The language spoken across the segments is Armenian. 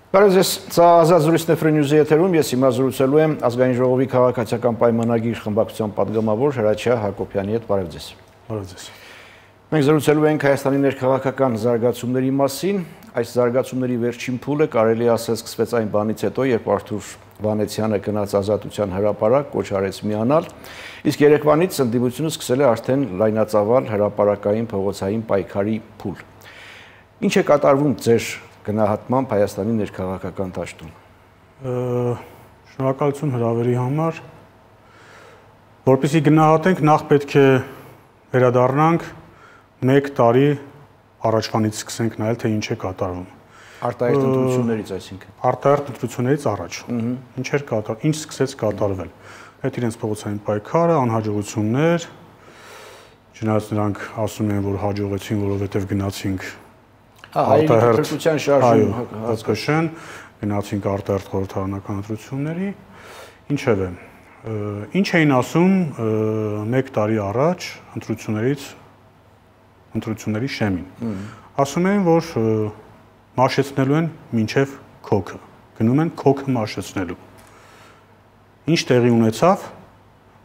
Բարև ձեզ, սա Ազատ զրույցն է Free News-ի եթերում, ես հիմա զրուցելու եմ Ազգային ժողովի քաղաքացիական պայմանագիր խմբակցության պատգամավոր Հրաչյա Հակոբյանի հետ, բարև ձեզ։ Բարև ձեզ։ Մենք զրուցելու ենք Հայաստանի ներքաղաքական զարգացումների մասին, այս զարգացումների վերջին փուլը կարելի է ասել սկսվեց այն բանից հետո, երբ Արթուր Վանեցյանը գնաց Ազատության հրապարակ, կոչ արեց միանալ, իսկ երեկվանից ընդդիմությունը սկսել է արդեն լայնածավալ հրապարակային փողոցային պայքարի փուլ։ Ինչ է կատարվում ձեր գնահատմամբ Հայաստանի ներքաղաքական դաշտում։ Շնորհակալություն հրավերի համար։ Որպեսզի գնահատենք, նախ պետք է վերադառնանք 1 տարի առաջվանից սկսենք նայել, թե ինչ է կատարվում։ Արտահերթ ընտրություններից, այսինքն։ Արտահերթ ընտրություններից առաջ։ Ինչ էր կատարվում, ինչ սկսեց կատարվել։ Այդ իրենց փողոցային պայքարը, անհաջողություններ, չնայած նրանք ասում են, որ հաջողեցին, որովհետև գնացինք Արտահերթության շարժում հատկաշեն, գնացինք արտահերթ խորհրդարանական ընտրությունների, ինչևէ, ինչ էին ասում 1 տարի առաջ ընտրությունների շեմին։ Ասում էին, որ մաշեցնելու են մինչև քոքը, գնում են քոքը մաշեցնելու։ Ինչ տեղի ունեցավ,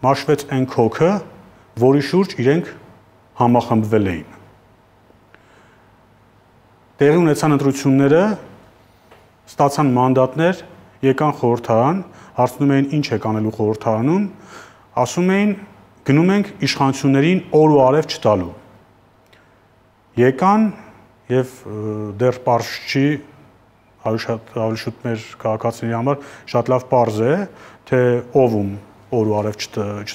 մաշվեց այն քոքը, որի շուրջ իրենք համախմբվել էին։ Տեղի ունեցան ընտրությունները, ստացան մանդատներ, եկան խորհրդարան, հարցնում էին ինչ եք անելու խորհրդարանում, ասում էին գնում ենք իշխանություններին օր ու արև չտալու։ Եկան եւ դեռ պարզ չի, ավելի շուտ մեր քաղաքացիների համար շատ լավ պարզ է, թե ով օր ու արև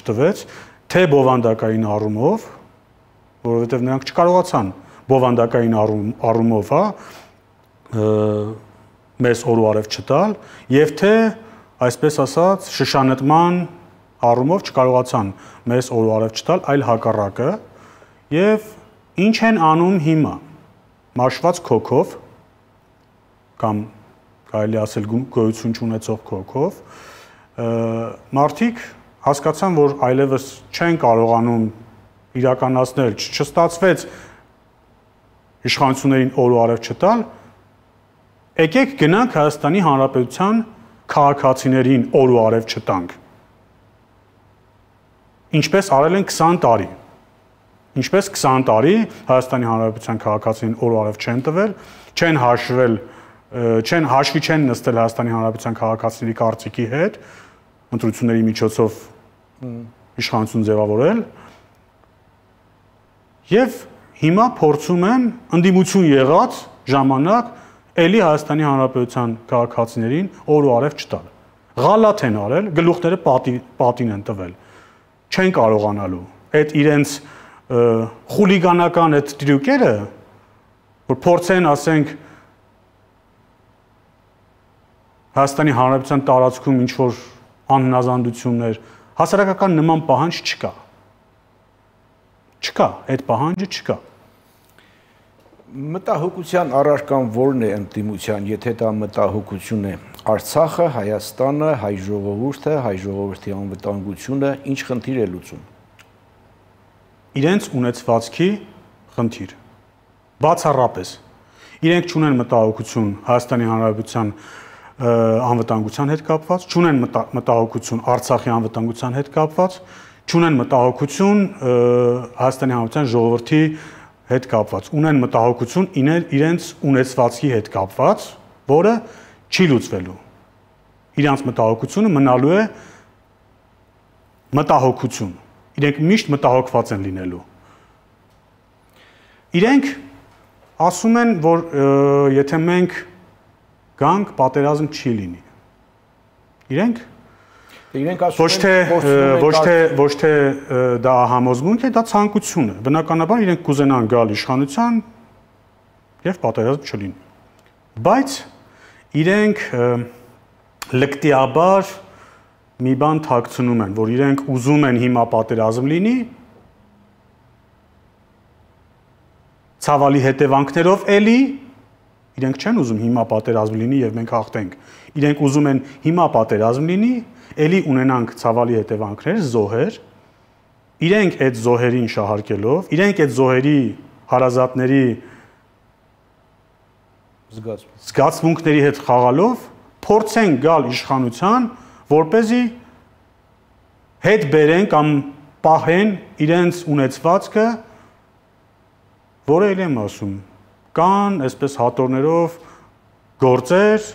չտվեց, թե բովանդակային առումով, որովհետեւ նրանք չկարողացան բովանդակային առումով, մեզ օր ու արև չտալ, եւ թե, այսպես ասած, շշանետման առումով չկարողացան մեզ օր ու արև չտալ, այլ հակառակը, եւ ինչ են անում հիմա, մաշված քոքով, կամ կարելի ասել գոյություն չունեցող քոքով, մարդիկ հասկացան, որ այլևս չեն կարողանում իրականացնել, չստացվեց իշխանություններին օր ու արև չտալ, եկեք գնանք Հայաստանի Հանրապետության քաղաքացիներին օր ու արև չտանք։ Ինչպես արել են 20 տարի։ Ինչպես 20 տարի Հայաստանի Հանրապետության քաղաքացիներին օր ու արև չեն տվել, հաշվի չեն նստել Հայաստանի Հանրապետության քաղաքացիների կարծիքի հետ, ընտրությունների միջոցով իշխանություն ձևավորել, եւ հիմա փորձում են ընդդիմություն եղած ժամանակ էլի Հայաստանի Հանրապետության քաղաքացիներին օր ու արև չտալ։ Ղալաթ են արել, գլուխները պատին են տվել։ Չեն կարողանալու։ Այդ իրենց խուլիգանական այդ տրյուկերը, որ փորձեն, ասենք, Հայաստանի Հանրապետության տարածքում ինչ-որ անհնազանդություններ, հասարակական նման պահանջ չկա։ Չկա, այդ պահանջը չկա։ Մտահոգության առարկան որն է ընդդիմության, եթե դա մտահոգություն է, Արցախը, Հայաստանը, հայ ժողովուրդը, հայ ժողովրդի անվտանգությունը, ինչ խնդիր է լուծում։ Իրենց ունեցվածքի խնդիր։ Բացառապես։ Իրենք չունեն մտահոգություն Հայաստանի Հանրապետության անվտանգության հետ կապված, չունեն մտահոգություն Արցախի անվտանգության հետ կապված, չունեն մտահոգություն Հայաստանի Հանրապետության ժողովրդի հետ կապված, ունեն մտահոգություն իրենց ունեցվածքի հետ կապված, որը չի լուծվելու։ Իրանց մտահոգությունը մնալու է մտահոգություն։ Իրենք միշտ մտահոգված են լինելու։ Իրենք ասում են, որ եթե մենք գանք, պատերազմ չի լինի։ Իրենք ասում ոչ թե դա համոզմունք է, դա ցանկություն է։ Բնականաբար իրենք կուզենան գալ իշխանության եւ պատերազմ չլինի։ Բայց իրենք լկտիաբար մի բան թաքցնում են, որ իրենք ուզում են հիմա պատերազմ լինի, ցավալի հետևանքներով էլի, իրենք չեն ուզում հիմա պատերազմ լինի եւ մենք հաղթենք։ Իրենք ուզում են հիմա պատերազմ լինի, էլի ունենանք ցավալի հետևանքներ, զոհեր, իրենք այդ զոհերին շահարկելով, իրենք այդ զոհերի հարազատների զգացմունքների հետ խաղալով փորձեն գալ իշխանության, որպեսզի հետ բերեն կամ պահեն իրենց ունեցվածքը, որը եմ ասում, կան այսպես հատորներով գործեր,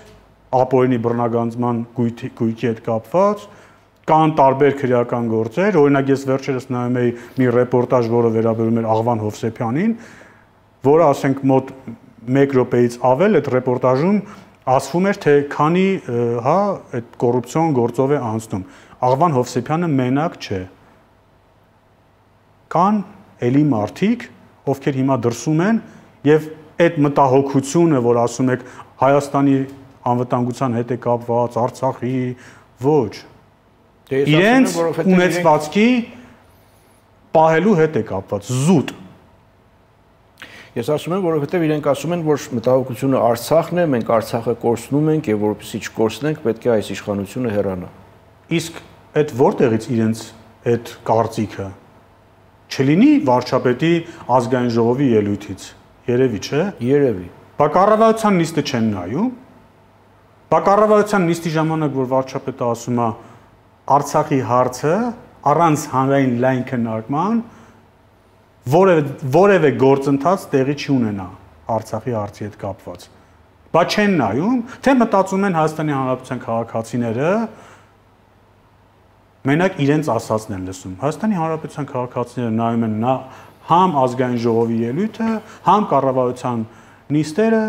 ապօրինի բռնագանձման գույքի հետ կապված, կան տարբեր քրեական գործեր, օրինակ ես վերջերս նայում էի մի ռեպորտաժ, որը վերաբերում էր Աղվան Հովսեփյանին, որը ասենք մոտ 1 րոպեից ավել այդ ռեպորտաժում ասվում էր, թե քանի այդ կոռուպցիոն գործով է անցնում։ Աղվան Հովսեփյանը մենակ չէ։ Կան էլի մարդիկ, ովքեր հիմա դրսում են եւ այդ մտահոգությունը, որ ասում եք Հայաստանի անվտանգության հետ է կապված, Արցախի, ոչ։ Իրենց ունեցվածքի պահելու հետ է կապված, զուտ։ Ես ասում եմ, որովհետև իրենք ասում են, որ մտահոգությունը Արցախն է, մենք Արցախը կորցնում ենք եւ որպեսզի չկորցնենք, պետք է այս իշխանությունը հեռանա։ Իսկ այդ որտեղից իրենց այդ կարծիքը չլինի վարչապետի ազգային ժողովի ելույթից, երևի, չէ։ Երևի։ Բա կառավարության նիստը չեն նայում։ Բա կառավարության նիստի ժամանակ, որ վարչապետը ասում է Արցախի հարցը առանց հանրային լայն քննարկման որևէ գործընթաց տեղի չի ունենա Արցախի հարցի հետ կապված։ Բա չեն նայում, թե մտածում են Հայաստանի Հանրապետության քաղաքացիները մենակ իրենց ասածն են լսում։ Հայաստանի Հանրապետության քաղաքացիները նայում են համ ազգային ժողովի ելույթը, համ կառավարության նիստերը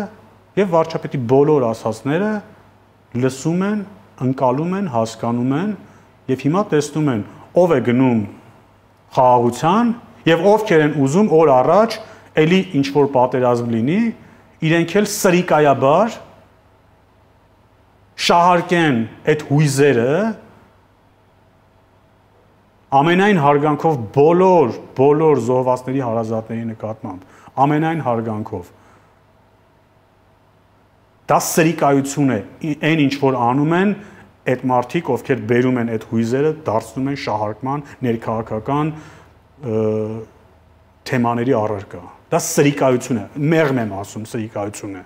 եւ վարչապետի բոլոր ասածները լսում են, ընկալում են, հասկանում են եւ հիմա տեսնում են ով է գնում խաղաղության եւ ովքեր են ուզում օր առաջ էլի ինչ որ պատերազմ լինի, իրենք էլ սրիկայաբար շահարկեն այդ հույզերը ամենայն հարգանքով բոլոր զոհվածների հարազատների նկատմամբ, ամենայն հարգանքով։ Դա սրիկայություն է, այն ինչ որ անում են այդ մարդիկ, ովքեր բերում են այդ հույզերը, դարձնում են շահարկման ներքաղաքական թեմաների առարկա։ Դա սրիկայություն է, մեղմ եմ ասում, սրիկայություն է։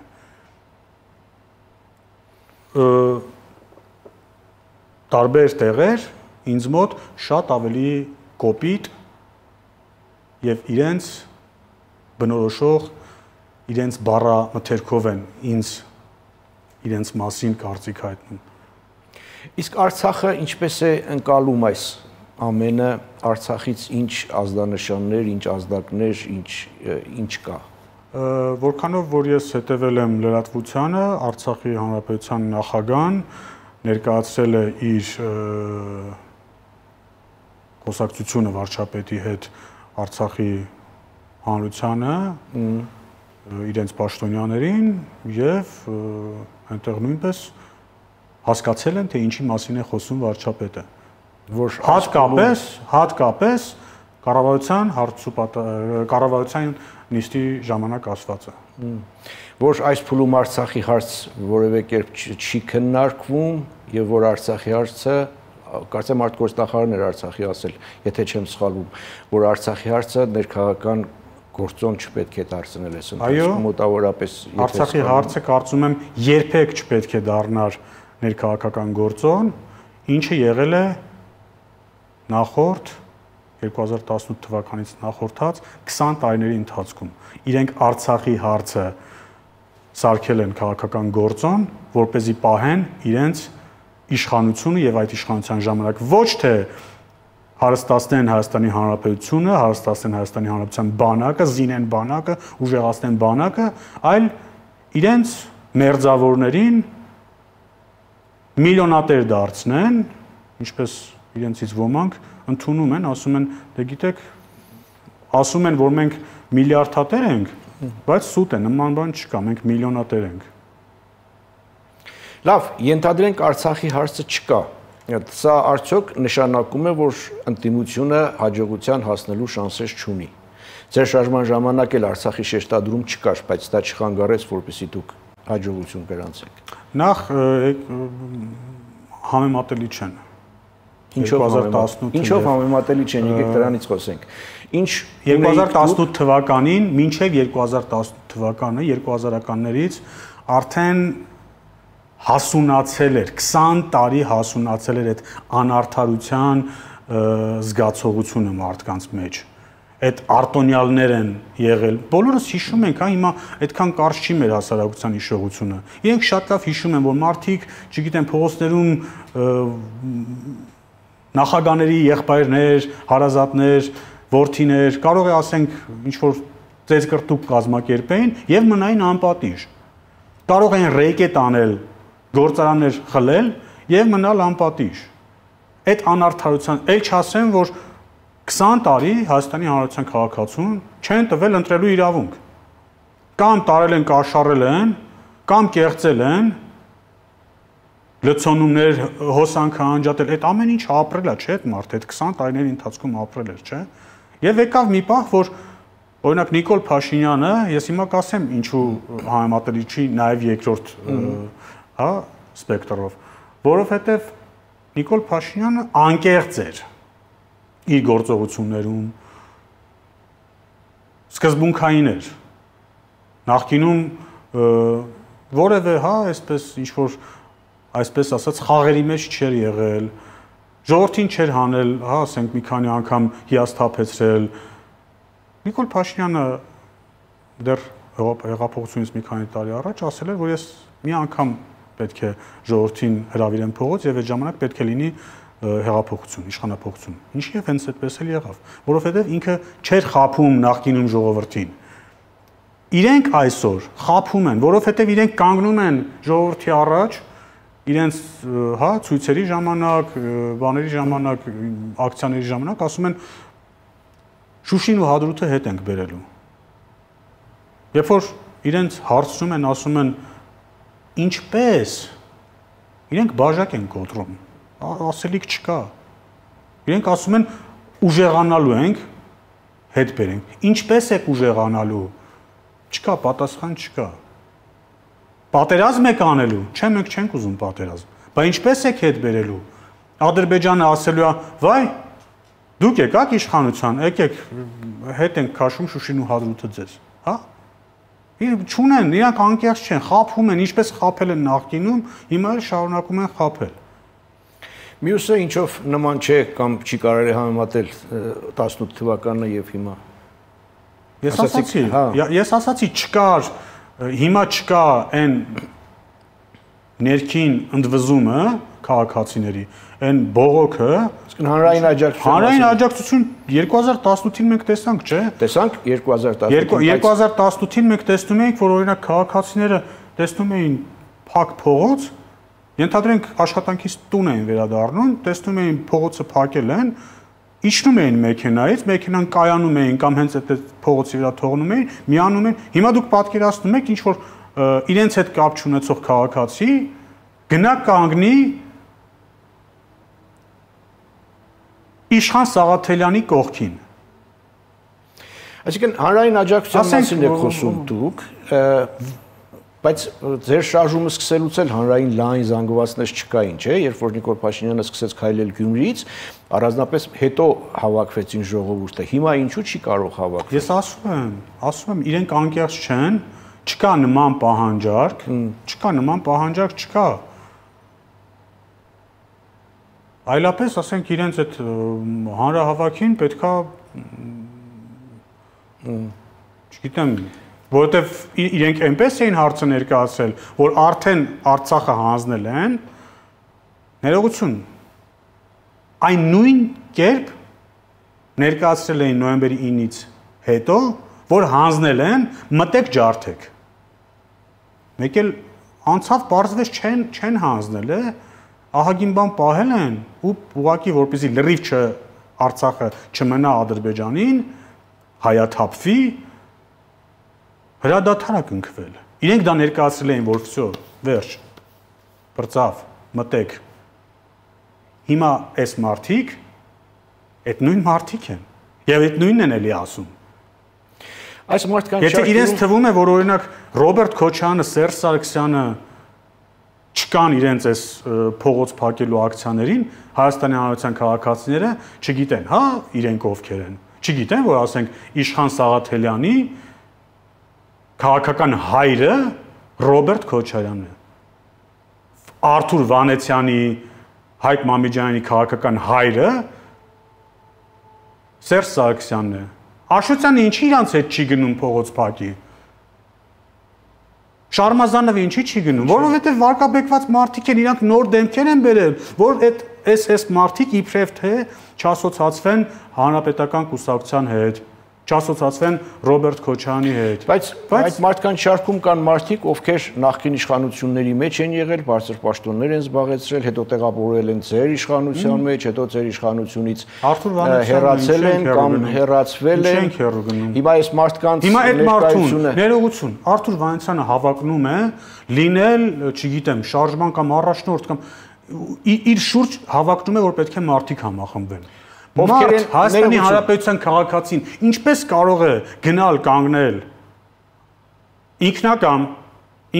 Տարբեր տեղեր ինձ մոտ շատ ավելի կոպիտ եւ իրենց բնորոշող իրենց բառամթերքով են ինձ իրենց մասին կարծիք հայտնում։ Իսկ Արցախը ինչպես է ընկալում այս ամենը, Արցախից ինչ ազդանշաններ, ինչ ազդակներ, ինչ կա։ Որքանով որ ես հետևել եմ լրատվությանը, Արցախի Հանրապետության նախագահան ներկայացրել է իր խոսակցությունը վարչապետի հետ Արցախի հանրությանը, իրենց պաշտոնյաներին եւ այնտեղ նույնպես հասկացել են, թե ինչի մասին է խոսում վարչապետը, որ հատկապես կառավարության նիստի ժամանակ ասվածը, որ այս փուլում Արցախի հարց որևէ կերպ չի քննարկվում եւ որ Արցախի հարցը կարծեմ արտգործնախարարն էր Արցախի ասել, եթե չեմ սխալվում, որ Արցախի հարցը ներքաղաքական գործոն չպետք է դարձնել այս ընթացքում մոտավորապես Արցախի հարցը կարծում եմ երբեք չպետք է դառնար ներքաղաքական գործոն, ինչը եղել է նախորդ 2018 թվականից նախորդած 20 տարիների ընթացքում։ Իրենք Արցախի հարցը սարքել են քաղաքական գործոն, որպեսզի պահեն իրենց իշխանությունը եւ այդ իշխանության ժամանակ ոչ թե հարստացնեն Հայաստանի Հանրապետությունը, հարստացնեն Հայաստանի Հանրապետության բանակը, զինեն բանակը, ուժեղացնեն բանակը, այլ իրենց մերձավորներին միլիոնատեր դարձնեն, ինչպես իրենցից ոմանք ընդունում են, ասում են, դե գիտեք, ասում են, որ մենք միլիարդատեր ենք, բայց սուտ է, նման բան չկա, մենք միլիոնատեր ենք։ Լավ, ենթադրենք Արցախի հարցը չկա։ Սա արդյոք նշանակում է, որ ընդդիմությունը հաջողության հասնելու շանսեր չունի։ Ձեր շարժման ժամանակ էլ Արցախի շեշտադրում չկար, բայց դա չխանգարեց, որպեսզի դուք հաջողություն գրանցեք։ Նախ համեմատելի չեն։ Ինչով համեմատելի չեն, եկեք դրանից խոսենք։ Ինչ 2018 թվականին, մինչև 2018 թվականը, 2000-ականներից արդեն հասունացել էր, 20 տարի հասունացել էր այդ անարդարության զգացողությունը մարդկանց մեջ։ Այդ արտոնյալներ են եղել։ Բոլորս հիշում ենք, հա, հիմա այդքան կարճ չի մեր հասարակության հիշողությունը։ Իրենք շատ լավ հիշում են, որ մարդիկ, չգիտեմ, փողոցներում նախագաների եղբայրներ, հարազատներ, որդիներ, կարող է ասենք ինչ որ ծեծկրտուկ կազմակերպեին եւ մնային անպատիժ։ Կարող են ռեյկետ անել, գործարաններ խլել եւ մնալ անպատիժ։ Այդ անարդարության, ել չասեմ, որ 20 տարի Հայաստանի Հանրապետության քաղաքացուն չեն տվել ընտրելու իրավունք։ Կամ տարել են, կաշառել են, կամ կեղծել են, լցոնումներ, հոսանքը անջատել, այդ ամեն ինչ ապրել է, չէ՞, այդ մարդը այդ 20 տարիների ընթացքում ապրել էր, չէ՞։ Եվ եկավ մի պահ, որ օրինակ Նիկոլ Փաշինյանը, ես հիմա կասեմ, ինչու համեմատելի չի նաև երկրորդ, հա, սպեկտրով, որովհետև Նիկոլ Փաշինյանը անկեղծ էր իր գործողություններում, սկզբունքային էր։ Նախկինում որևէ, հա, այսպես ինչ որ այսպես ասած խաղերի մեջ չէր եղել, ժողովրդին չէր հանել, հա, ասենք մի քանի անգամ հիասթափեցրել։ Նիկոլ Փաշինյանը դեռ հեղափոխությունից մի քանի տարի առաջ ասել էր, որ ես մի անգամ պետք է ժողովրդին հրավիրեմ փողոց եւ այդ ժամանակ պետք է լինի հեղափոխություն, իշխանափոխություն։ Ինչի՞ հենց այդպես էլ եղավ, որովհետեւ ինքը չէր խափում նախկինում ժողովրդին։ Իրենք այսօր խափում են, որովհետեւ իրենք կանգնում են ժողովրդի առաջ իրենց, հա, ցույցերի ժամանակ, բաների ժամանակ, ակցիաների ժամանակ ասում են Շուշին ու Հադրութը հետ ենք բերելու։ Երբ որ իրենց հարցնում են, ասում են ինչպես, իրենք բաժակ են կոտրում, ասելիք չկա։ Իրենք ասում են ուժեղանալու ենք, հետ բերենք։ Ինչպես եք ուժեղանալու։ Չկա, պատասխան չկա։ Պատերազմ եք անելու, չէ, մենք չենք ուզում պատերազմ։ Բայց ինչպես եք հետ բերելու։ Ադրբեջանը ասելու է, վայ, դուք եկաք իշխանության, եկեք հետ ենք քաշում Շուշին ու Հադրութը ձեզ, հա։ Չունեն, իրանք անկեղծ չեն, խափում են, ինչպես խափել են նախկինում, հիմա էլ շարունակում են խափել։ Մյուսը ինչով նման չէ կամ չի կարելի համեմատել 18 թվականը եւ հիմա։ Ես ասացի, չկար, հիմա չկա այն ներքին ընդվզումը քաղաքացիների, այն բողոքը, հանրային աջակցություն։ Հանրային աջակցություն 2018-ին մենք տեսանք, չէ՞։ Տեսանք 2018-ին։ 2018-ին մենք տեսնում էինք, որ օրինակ քաղաքացիները տեսնում էին փակ փողոց, ենթադրենք աշխատանքից տուն էին վերադառնում, տեսնում էին փողոցը փակել են, իջնում էին մեքենայից, մեքենան կայանում էին կամ հենց այդ փողոցի վրա թողնում էին, միանում են։ Հիմա դուք պատկերացնում եք, ինչ որ իրենց հետ կապ չունեցող քաղաքացի գնա կանգնի Իշխան Սաղաթելյանի կողքին։ Այսինքն հանրային աջակցության մասին եք խոսում դուք, բայց ձեր շարժումը սկսելուց էլ հանրային լայն զանգվածներ չկային, չէ՞, երբ որ Նիկոլ Փաշինյանը սկսեց քայլել Գյումրիից, առանձնապես հետո հավաքվեցին ժողովուրդը։ Հիմա ինչու չի կարող հավաքվել։ Ես ասում եմ, իրենք անկեղծ չեն, չկա նման պահանջարկ, չկա։ Այլապես, ասենք, իրենց այդ հանրահավաքին պետքա, չգիտեմ, որովհետև իրենք այնպես էին հարցը ներկայացրել, որ արդեն Արցախը հանձնել են, ներողություն, այն նույն կերպ ներկայացրել էին նոյեմբերի 9-ից հետո, որ հանձնել են, մտեք ջարդեք։ Մեկ էլ անցավ պարզվեց չեն հանձնել, ահագին բան պահել են ու ուղղակի որպեսզի լրիվ Արցախը չմնա Ադրբեջանին, հայաթափվի, հրադադար է կնքվել։ Իրենք դա ներկայացրել էին, որ վсё, վերջ, բրծավ, մտեք։ Հիմա այս մարդիկ, այդ նույն մարդիկ են, եւ այդ նույնն են էլի ասում։ Այս մարդկանց Եթե իրենց թվում է, որ օրինակ Ռոբերտ Քոչյանը, Սերժ Սարգսյանը չկան իրենց այս փողոց փակելու ակցիաներին, Հայաստանի Հանրապետության քաղաքացիները չգիտեն, հա, իրենք ովքեր են։ Չգիտեն, որ ասենք Իշխան Սաղաթելյանի քաղաքական հայրը Ռոբերտ Քոչարյանն է։ Արթուր Վանեցյանի, Հայկ Մամիջյանի քաղաքական հայրը Սերժ Սարգսյանն է։ Աշոտյանը ինչի իրանց հետ չի գնում փողոց փակի։ Շարմազանովը ինչի չի գնում, որովհետև վարկաբեկված մարդիկ են, իրանք նոր դեմքեր են բերել, որ այս մարդիկ իբրև թե չասոցացվեն հանրապետական կուսակցության հետ, չասոցացվեն Ռոբերտ Քոչարյանի հետ։ Բայց մարդկանց շարքում կան մարդիկ, ովքեր նախկին իշխանությունների մեջ են եղել, բարձր պաշտոններ են զբաղեցրել, հետո տեղավորվել են ձեր իշխանության մեջ, հետո ձեր իշխանությունից հեռացել են կամ հեռացվել են։ Հիմա այս մարդկանց ներկայությունը ներողություն, Արթուր Վանեցյանը հավակնում է լինել, չգիտեմ, շարժման կամ առաջնորդ կամ իր շուրջ հավակնում է, որ պետք է մարդիկ համախմբվեն։ Ովքեր Հայաստանի Հանրապետության քաղաքացին ինչպես կարող է գնալ կանգնել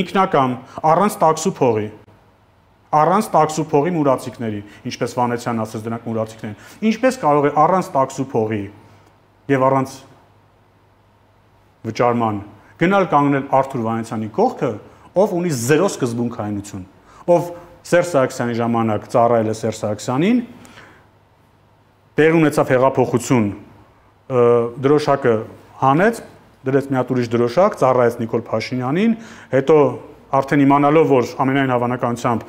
ինքնակամ առանց տաքսու փողի մուրացիկների, ինչպես Վանեցյանն ասաց, դրանք մուրացիկներ են, ինչպես կարող է առանց տաքսու փողի եւ առանց վճարման գնալ կանգնել Արթուր Վանեցյանի կողքը, ով ունի 0 սկզբունքայնություն, ով Սերժ Սարգսյանի ժամանակ ծառայել է Սերժ Սարգսյանին, տեղ ունեցավ հեղափոխություն, դրոշակը հանեց, դրեց մի հատ ուրիշ դրոշակ, ծառայեց Նիկոլ Փաշինյանին, հետո արդեն իմանալով, որ ամենայն հավանականությամբ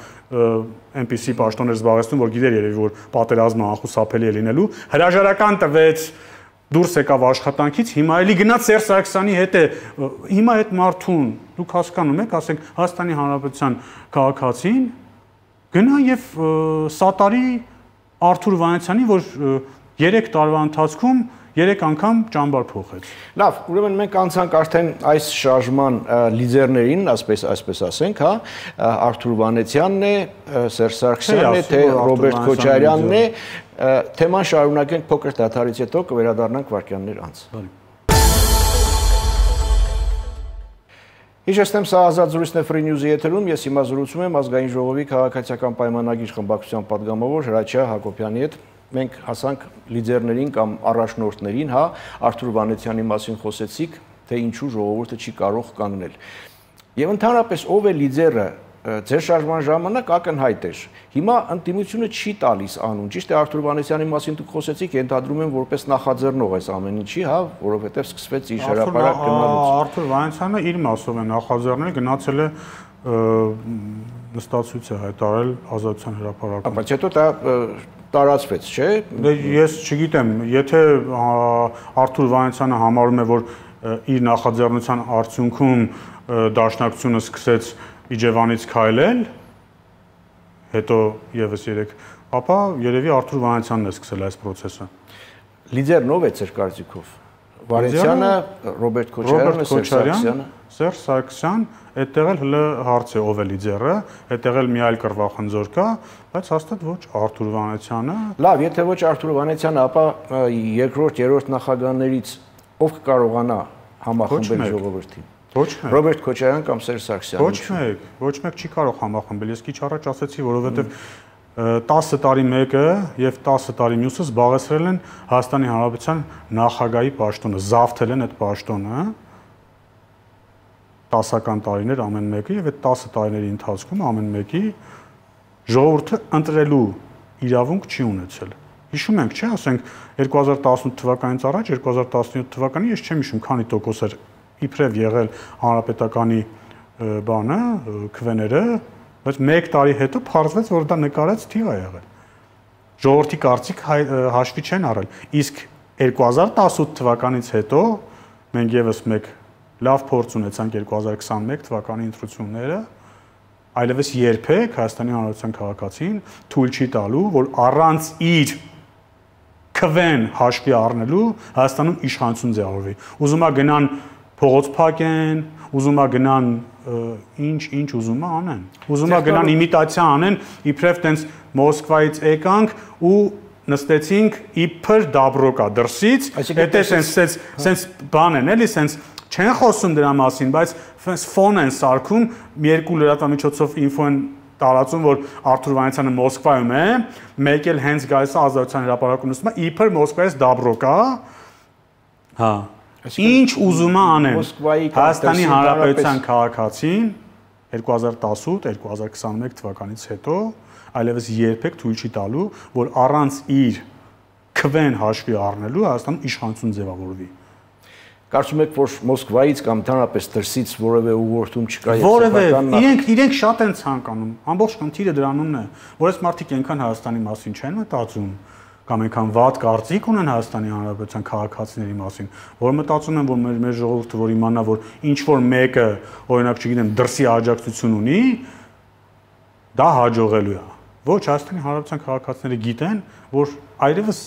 այնպիսի պաշտոններ զբաղեցնում, որ գիտեր երևի, որ պատերազմը անխուսափելի է լինելու, հրաժարական տվեց, դուրս եկավ աշխատանքից, հիմա էլի գնաց Սերժ Սարգսյանի հետ է, հիմա այդ մարդուն, դուք հասկանում եք, ասենք Հայաստանի Հանրապետության քաղաքացին գնա եւ սատարի Արթուր Վանեցյանի, որ 3 տարվա ընթացքում 3 անգամ ճամբար փոխեց։ Լավ, ուրեմն մենք անցանք արդեն այս շարժման լիդերներին, այսպես ասենք, հա, Արթուր Վանեցյանն է, Սերժ Սարգսյանն է, թե Ռոբերտ Քոչարյանն է, թեման շարունակենք փոքր դադարից հետո կվերադառնանք վայրկյաններ անց։ Հիշեցնեմ, սա Ազատ զրույցն է Free News-ի եթերում, ես հիմա զրուցում եմ Ազգային ժողովի քաղաքացիական պայմանագիր խմբակցության պատգամավոր Հրաչյա Հակոբյանի հետ։ Մենք հասանք լիդերներին կամ առաջնորդներին, հա, Արթուր Վանեցյանի մասին խոսեցիք, թե ինչու ժողովուրդը չի կարող կանգնել։ Եվ ընդհանրապես ով է լիդերը, ձեր շարժման ժամանակ ակնհայտ էր։ Հիմա ընդդիմությունը չի տալիս անուն։ Ճիշտ է, Արթուր Վանեցյանի մասին դուք խոսեցիք, ենթադրում եմ որպես նախաձեռնող այս ամեն ինչի, հա, որովհետև սկսվեց իր հրապարակ գնալուց։ Արթուր Վանեցյանը իր մասով է նախաձեռնել, գնացել է նստացույց է հայտարարել Ազատության հրապարակում։ Բայց հետո դա տարածվեց, չէ՞։ Ես չգիտեմ, եթե Արթուր Վանեցյանը համարում է, որ իր նախաձեռնության արդյունքում դաշնակցությունը սկսեց Իջևանից քայլել, հետո եւս 3, ապա երևի Արթուր Վանեցյանն է սկսել այս process-ը։ Լիդերն ով է ձեր կարծիքով։ Վանեցյանը, Ռոբերտ Քոչարյանը, Սերժ Սարգսյանը։ Սերժ Սարգսյան, այդտեղ էլ հələ հարց է ով է լիդերը, այդտեղ էլ մի այլ կռվախնձոր կա, բայց հաստատ ոչ Արթուր Վանեցյանը։ Լավ, եթե ոչ Արթուր Վանեցյանը, ապա երկրորդ, երրորդ նախագահներից ով կկարողանա համախմբել ժողովրդին։ Ոչ մեկ։ Ռոբերտ Քոչարյան կամ Սերժ Սարգսյան։ Ոչ մեկ չի կարող համախմբել։ Ես քիչ առաջ ասացի, որովհետև 10 տարի մեկը եւ 10 տարի մյուսը զբաղեցրել են Հայաստանի Հանրապետության նախագահի պաշտոնը, զավթել են այդ պաշտոնը 10-ական տարիներ ամեն մեկը եւ այդ 10 տարիների ընթացքում ամեն մեկի ժողովուրդը ընտրելու իրավունք չի ունեցել։ Հիշում ենք, չէ՞, ասենք 2018 թվականից առաջ 2017 թվականին ես չեմ հիշում քանի տոկոս էր իբրև եղել հանրապետականի բանը, քվեները, բայց 1 տարի հետո փառվեց, որ դա նկարած թիվ է եղել։ Ժողովրդի կարծիք հաշվի չեն առել։ Իսկ 2018 թվականից հետո մենք եւս մեկ լավ փորձ ունեցանք 2021 թվականի ընտրությունները, այլևս երբեք Հայաստանի Հանրապետության քաղաքացին թույլ չի տալու, որ առանց իր քվեն հաշվի առնելու Հայաստանում իշխանություն ձևավորվի։ Ուզում է գնան փողոց փակեն, ուզում է գնան ինչ ուզում է անեն։ Ուզում է գնան իմիտացիա անեն, իբրև տենց Մոսկվայից եկանք ու նստեցինք իբր դաբրոկա դրսից, հետո սենց բան են, էլի սենց չեն խոսում դրա մասին, բայց ֆոն են սարքում, երկու լրատվամիջոցով ինֆո են տարածում, որ Արթուր Վանեցյանը Մոսկվայում է, մեկ էլ հենց գալիս է Ազատության հրապարակում նստում է, իբր Մոսկվայից դաբրոկա, հա, ինչ ուզում է անեն։ Հայաստանի Հանրապետության քաղաքացին 2018-2021 թվականից հետո այլևս երբեք թույլ չի տալու, որ առանց իր քվեն հաշվի առնելու Հայաստանում իշխանություն ձևավորվի։ Կարծում եք, որ Մոսկվայից կամ ընդհանրապես դրսից որևէ ուղղորդում չկա Որևէ իրենք շատ են ցանկանում։ Ամբողջ խնդիրը դրանումն է, որ այս մարդիկ այնքան Հայաստանի մասին չեն մտածում, կամ այնքան վատ կարծիք ունեն Հայաստանի Հանրապետության քաղաքացիների մասին, որ մտածում են, որ մեր ժողովուրդը որ իմանա, որ ինչ որ մեկը, օրինակ, չգիտեմ, դրսի աջակցություն ունի, դա հաջողելու է։ Ոչ, Հայաստանի Հանրապետության քաղաքացիները գիտեն, որ այլևս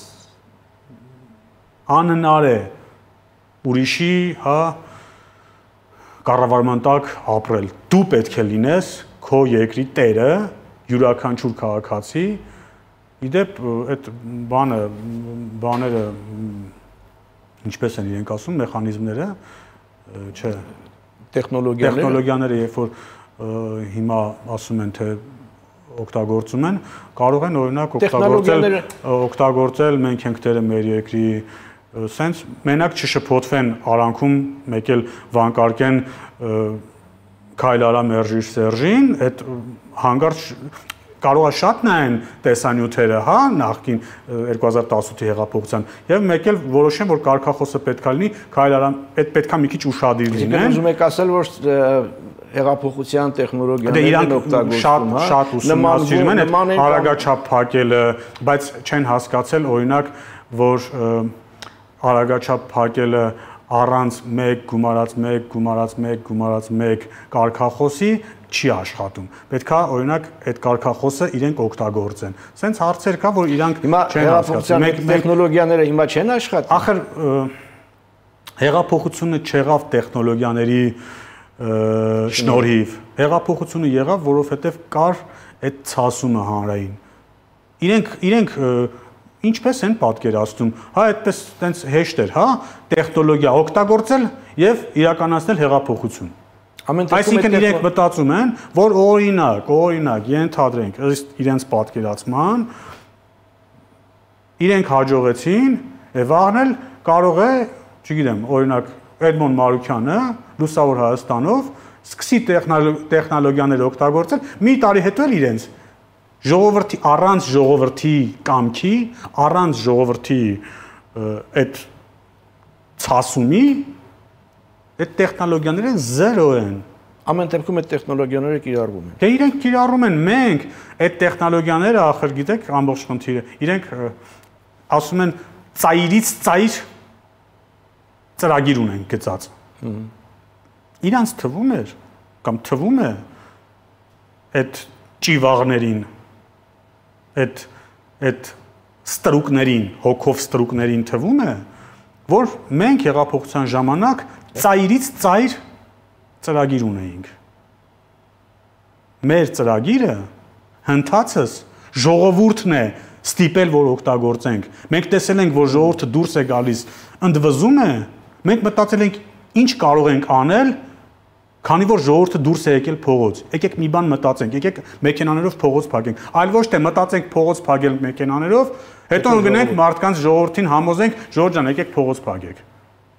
անհնար է ուրիշի, կառավարման տակ ապրել։ Դու պետք է լինես քո երկրի տերը, յուրաքանչյուր քաղաքացի։ Իդեպ այդ բաները ինչպես են իրենք ասում, մեխանիզմները, չէ, տեխնոլոգիաները, երբ որ հիմա ասում են, թե օգտագործում են, կարող են օրինակ օգտագործել մենք ենք տերը մեր երկրի, սենց մենակ չշփոթվեն արանքում, մեկ էլ վանկարկեն քայլ արա մերժիր Սերժին, այդ հանգարց կարող է շատ նայեն տեսանյութերը, նախկին 2018-ի հեղափոխության, եւ մեկ էլ որոշեն, որ կարգախոսը պետքա լինի, քայլ արա, այդ պետքա մի քիչ ուշադիր լինեն։ Ուզում եք ասել, որ հեղափոխության տեխնոլոգիաներն օգտագործում, շատ ուսումնասիրում են այդ արագաչափ փակելը, բայց չեն հասկացել, օրինակ, որ արագաչափ փակելը առանց 1 գումարած 1 կարգախոսի չի աշխատում։ Պետքա օրինակ այդ կարգախոսը իրենք օգտագործեն։ Սենց հարցեր կա, որ իրանք չեն հասկացում։ Տեխնոլոգիաները հիմա չեն աշխատում։ Ախր հեղափոխությունը չեղավ տեխնոլոգիաների շնորհիվ։ Հեղափոխությունը եղավ, որովհետև կար այդ ցասումը հանրային։ Իրենք ինչպես են պատկերացնում, այդպես տենց հեշտ էր, տեխնոլոգիա օգտագործել եւ իրականացնել հեղափոխություն։ Այսինքն իրենք մտածում են, որ օրինակ ենթադրենք իրենց պատկերացման, իրենք հաջողեցին եւ վաղնել կարող է, չգիտեմ, օրինակ Էդմոն Մարուկյանը լուսավոր Հայաստանով սկսի տեխնոլոգիաներ օգտագործել, մի տարի հետո էլ իրենց ժողովրդի առանց ժողովրդի կամքի, առանց ժողովրդի այդ ցասումի այդ տեխնոլոգիաները զերո են։ Ամեն դեպքում այդ տեխնոլոգիաները կիրառվում են։ Դե իրենք կիրառում են, մենք այդ տեխնոլոգիաները ախր գիտեք ամբողջ խնդիրը։ Իրենք ասում են ծայրից ծայր ծրագիր ունեն գծած։ Իրանց թվում էր կամ թվում է այդ ճիվաղներին այդ ստրուկներին, հոգով ստրուկներին թվում է, որ մենք հեղափոխության ժամանակ ծայրից ծայր ծրագիր ունեինք։ Մեր ծրագիրը հնդածս ժողովուրդն է ստիպել, որ օգտագործենք։ Մենք տեսել ենք, որ ժողովուրդը դուրս է գալիս, ընդվզում է, մենք մտածել ենք ինչ կարող ենք անել, քանի որ ժողովուրդը դուրս է եկել փողոց։ Եկեք մի բան մտածենք, եկեք մեքենաներով փողոց փակենք։ Այլ ոչ թե մտածենք փողոց փակել մեքենաներով, հետո գնենք մարդկանց ժողովրդին համոզենք, Ժորժ ջան, եկեք փողոց փակեք։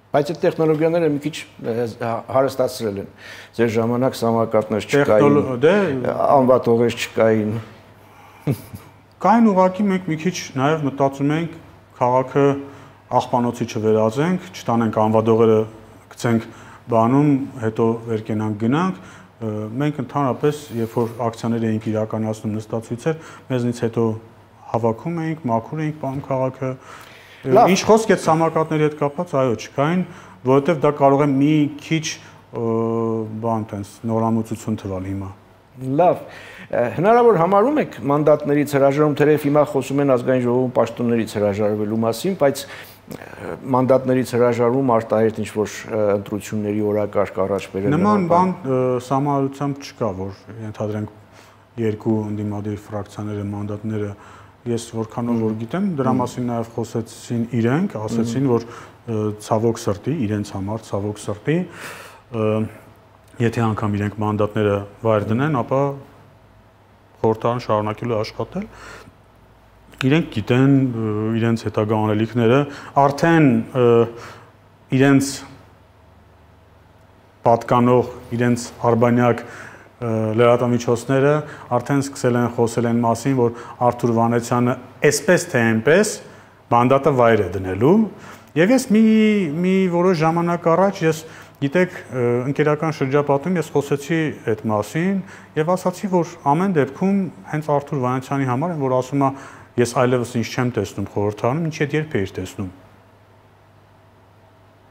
Բայց այդ տեխնոլոգիաները մի քիչ հարստացրել են։ Ձեր ժամանակ սամակատներ չկային, անվատողեր չկային։ Կային ուղղակի մենք մի քիչ նաև մտածում ենք քաղաքը աղբանոցի չվերածենք, չտանենք անվատողերը գցենք բանում, հետո վերկենանք գնանք, մենք ընդհանրապես, երբ որ ակցիաներ էինք իրականացնում նստածույցեր, մեզնից հետո հավաքում էինք, մաքուր էինք պահում քաղաքը։ Ինչ խոսք այդ սամակատների հետ կապված, այո, չկային, որովհետև դա կարող է մի քիչ բան տենց նորամուծություն թվալ հիմա։ Լավ, հնարավոր համարում եք մանդատներից հրաժարում, թերև հիմա խոսում են ազգային ժողովում պաշտոններից հրաժարվելու մասին, բայց մանդատներից հրաժարվում արտահայտ ինչ-որ ընտրությունների օրակարգ առաջ բերել։ Նման բան սահմանությամբ չկա, որ ենթադրենք երկու ընդդիմադիր ֆրակցիաները մանդատները, ես որքանով որ գիտեմ, դրա մասին նաև խոսեցին իրենք, ասեցին, որ ցավոք սրտի, իրենց համար ցավոք սրտի, եթե անգամ իրենք մանդատները վայր դնեն, ապա խորհրդարան շարունակելու աշխատել։ Իրենք գիտեն իրենց հետագա անելիքները, արդեն իրենց պատկանող, իրենց արբանյակ լրատվամիջոցները արդեն սկսել են խոսել այն մասին, որ Արթուր Վանեցյանը այսպես թե այնպես մանդատը վայր է դնելու, եւ ես մի որոշ ժամանակ առաջ ես գիտեք ընկերական շրջապատում ես խոսեցի այդ մասին եւ ասացի, որ ամեն դեպքում հենց Արթուր Վանեցյանի համար են, որ ասում է ես այլևս ինչ չեմ տեսնում խորհրդարանում, ինչ այդ երբ էիր տեսնում։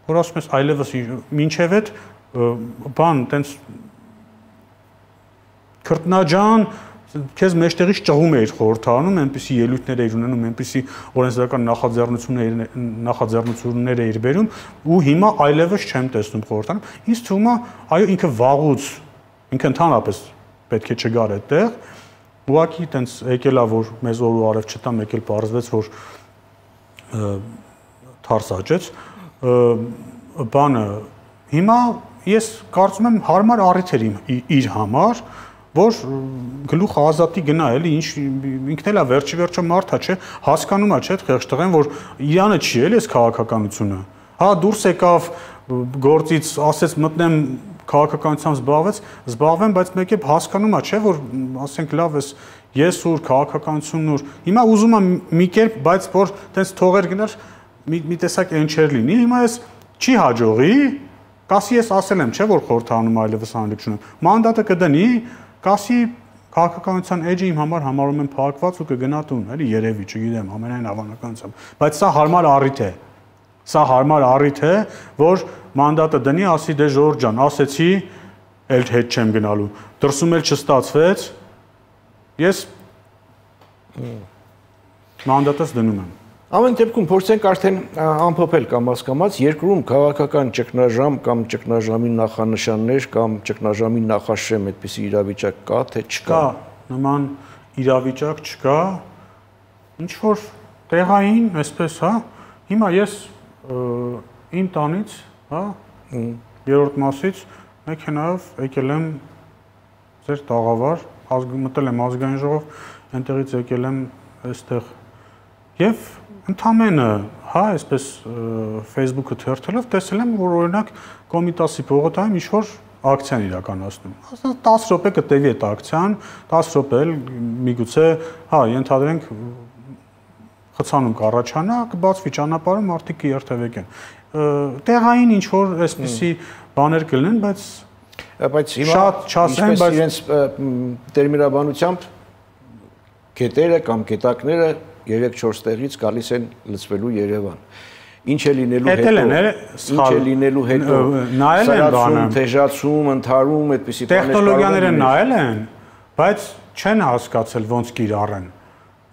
Որ ասում ես այլևս մինչև այդ բան տենց քրտնաջան քեզ մեջտեղից ճղում էիր խորհրդարանում, այնպիսի ելույթներ էիր ունենում, այնպիսի օրենսդրական նախաձեռնություններ էիր բերում ու հիմա այլևս չեմ տեսնում խորհրդարանում։ Ինձ թվում է, այո, ինքը վաղուց, ինքը ընդհանրապես պետք է չգար այդտեղ, ուղղակի տենց եկել է, որ մեզ օր ու արև չտամ, եկել պարզվեց, որ թարս աճեց, բանը հիմա ես կարծում եմ հարմար առիթ էր իր համար, որ գլուխ ազատի գնա էլի ինչ ինքն էլ է վերջի մարդա չէ հասկանում է չէ այդ խեղճ տղեն որ իրանը չի էլի այս քաղաքականությունը հա դուրս եկավ գործից ասեց մտնեմ քաղաքականությամբ զբաղվեմ բայց մեկ է հասկանում է չէ որ ասենք լավ ես ուր քաղաքականությունն ուր հիմա ուզում եմ մի կերպ բայց որ տենց թողեր գնար մի տեսակ ընչեր լինի հիմա ես չի հաջողի կասի ես ասել եմ չէ որ խորհրդանում այլևս անելիք չունեմ մանդատը կդնի կասի քաղաքականության էջը իմ համար համարում եմ փակված ու կգնա տուն, էլի երևի, չգիտեմ, ամենայն հավանականությամբ, բայց սա հարմար առիթ է։ Սա հարմար առիթ է, որ մանդատը դնի, ասի դե Ժորժ ջան, ասեցի, էլ հետ չեմ գնալու։ Դրսում էլ չստացվեց։ Ես մանդատս դնում եմ։ Ամեն դեպքում փորձենք արդեն ամփոփել կամաց երկրում քաղաքական ճգնաժամ կամ ճգնաժամի նախանշաններ կամ ճգնաժամի նախաշեմ այդպիսի իրավիճակ կա թե չկա։ Կա, նման իրավիճակ չկա։ Ինչ որ տեղային, այսպես, հա, հիմա ես իմ տանից, հա, երրորդ մասից մեքենայով եկել եմ ձեր տաղավար, մտել եմ ազգային ժողով, այնտեղից եկել եմ այստեղ եւ ընդամենը, հա, այսպես Facebook-ը թերթելով տեսել եմ, որ օրինակ Կոմիտասի պողոտայում ինչ-որ ակցիան իրականացնում։ 10 րոպե կտևի այդ ակցիան, 10 րոպե էլ միգուցե, հա, ենթադրենք խցանում կառաջանա, կբացվի ճանապարհը, մարդիկ կերթևեկեն։ Տեղային ինչ-որ այսպիսի բաներ կլինեն, բայց հիմա շատ իրենց տերմինաբանությամբ գետերը կամ գետակները 3-4 տեղից գալիս են լցվելու Երևան։ Ինչ է լինելու հետո, սրացում, թեժացում, ընդհարում, այդպիսի բաներ տեխնոլոգիաները նայել են, բայց չեն հասկացել ոնց կիրառեն,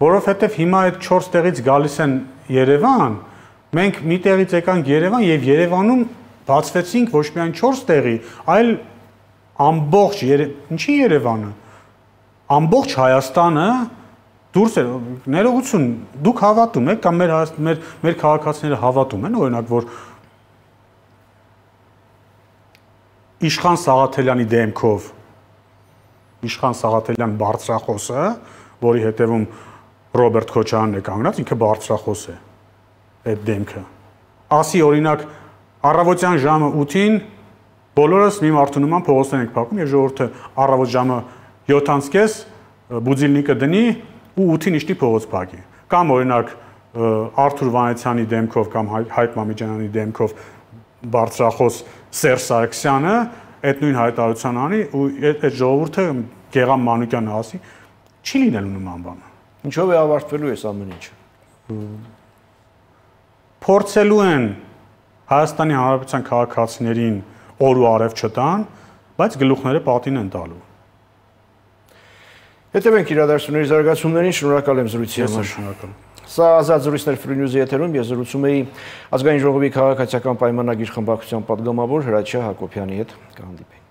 որովհետև հիմա այդ 4 տեղից գալիս են Երևան, մենք մի տեղից եկանք Երևան եւ Երևանում բացվեցինք ոչ միայն 4 տեղի, այլ ամբողջ ինչի Երևանը, ամբողջ Հայաստանը դուրս է ներողություն դուք հավատում եք կամ մեր քաղաքացիները հավատում են օրինակ որ Իշխան Սաղաթելյանի դեմքով Իշխան Սաղաթելյան բարձրախոսը որի հետևում Ռոբերտ Քոչարյանն է կանգնած ինքը բարձրախոս է այդ դեմքը ասի օրինակ առավոտյան ժամը 8-ին բոլորս մի մարդու նման փողոցներ ենք փակում եւ ժողովուրդը առավոտ ժամը 7:30 բուձիլնիկը դնի ու 8-ին իշտի փողոց փակի կամ օրինակ Արթուր Վանեցյանի դեմքով կամ Հայկ Մամիջանյանի դեմքով բարձրախոս Սերժ Սարգսյանը այդ նույն հայտարարության անի ու այդ ժողովուրդը Գեգամ Մանուկյանը ասի չի լինելու նման բան ինչով է ավարտվելու այս ամեն ինչը փորձելու են Հայաստանի Հանրապետության քաղաքացիներին օր ու արև չտան բայց գլուխները պատին են տալու Հետևենք իրադարձությունների զարգացումներին, շնորհակալ եմ զրույցի համար։ Շնորհակալ։ Սա ազատ զրույցներ Free News-ի եթերում ես զրուցում էի Ազգային ժողովի քաղաքացիական պայմանագիր խմբակցության պատգամավոր Հրաչյա Հակոբյանի հետ։ Կհանդիպենք։